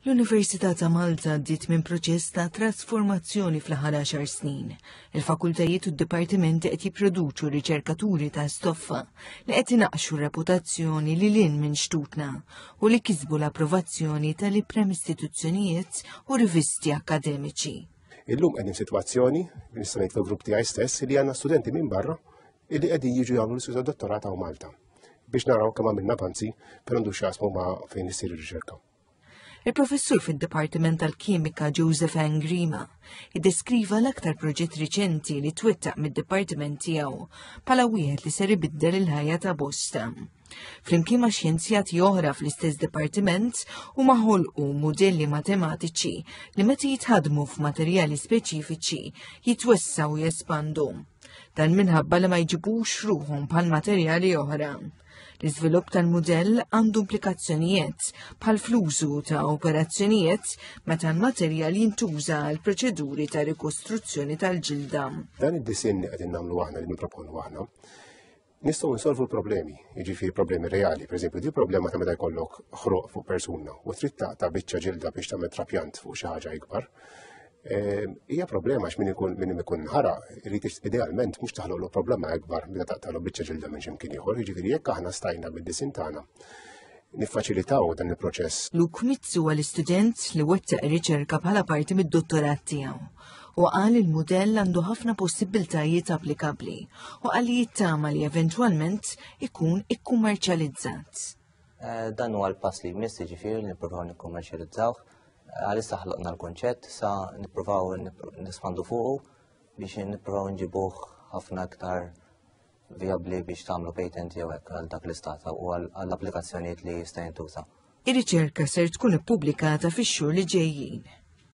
L-Università ta' Malta għaddiet minn proċess ta' trasformazzjoni fl-aħħar għaxar snin. Il-fakultajiet u d-dipartimenti qed jipproduċu riċerkaturi ta' stoffa li qed inaqqxu reputazzjoni li lin minn xtutna u li kisbu l-approvazzjoni tal-iprem istituzzjonijiet u rivisti akademiċi. Illum qegħdin sitwazzjoni, nista' ngħid fil-grupp tiegħi stess, li għandna studenti minn barra illi qegħdin jiġu jagħmlu l-istudju dottorat hawn Malta biex naraw kemm għamilna avanzi per għandu x'jasmu ma' fejn issir ir-riċerka. Il-professur fid-Dipartiment tal-Kimika Joseph Angrima iddeskriva l-aktar proġett riċenti li twettaq mid-dipartiment tiegħu bħala wieħed li ser ibiddel il-ħajja ta' bosta. Flimkien ma' xjenzjati oħra fl-istess dipartiment huma ħolqu mudelli matematiċi li meta jitħadmu f'materjali speċifiċi jitwessaw u jespandu. Dan minħabba li ma jġibux ruħhom bħal materjali oħra. L-iżvilupp tal-mudell għandu implikazzjonijiet bħal fl-użu ta' operazzjonijiet meta l-materjal jintuża għal proċeduri ta' rikostruzzjoni tal-ġilda. Dan id-disinn li qegħdin nagħmlu aħna li nipproponu aħna, nistgħu nsolvu l-problemi, jiġifieri problemi reali, pereżempju di problema ta' meta jkollok ħroq fuq persuna u trid taqta' biċċa ġilda biex tagħmel trapjant fuq xi ħaġa ikbar. Ehm, hija problema għax min ikun min ikun ħara irid idealment mhux taħloqlu problema akbar meta taqtalu biċċa ġilda minn x'imkien ieħor, jiġifieri jekk aħna stajna bid-disin tagħna niffaċilitaw dan il-proċess. Luke Mizzu huwa l-istudent li wettaq riċerka bħala parti mid-dottorat tiegħu u qal il-mudell għandu ħafna possibbiltajiet applikabbli u qal li jittama li eventwalment ikun ikkummerċjalizzat. Eh, dan huwa l-pass li jmiss jiġifieri li nippruvaw nikkummerċjalizzawh Għalissa ħloqna l-konċett, sa nippruvaw nispandu fuqu biex nippruvaw nġibuh ħafna aktar vijabbli biex tagħmlu patent jew hekk għal dak l-istat u għall-applikazzjonijiet li jista' jintuża. Ir-riċerka ser tkun ippubblikata fix-xhur li ġejjin.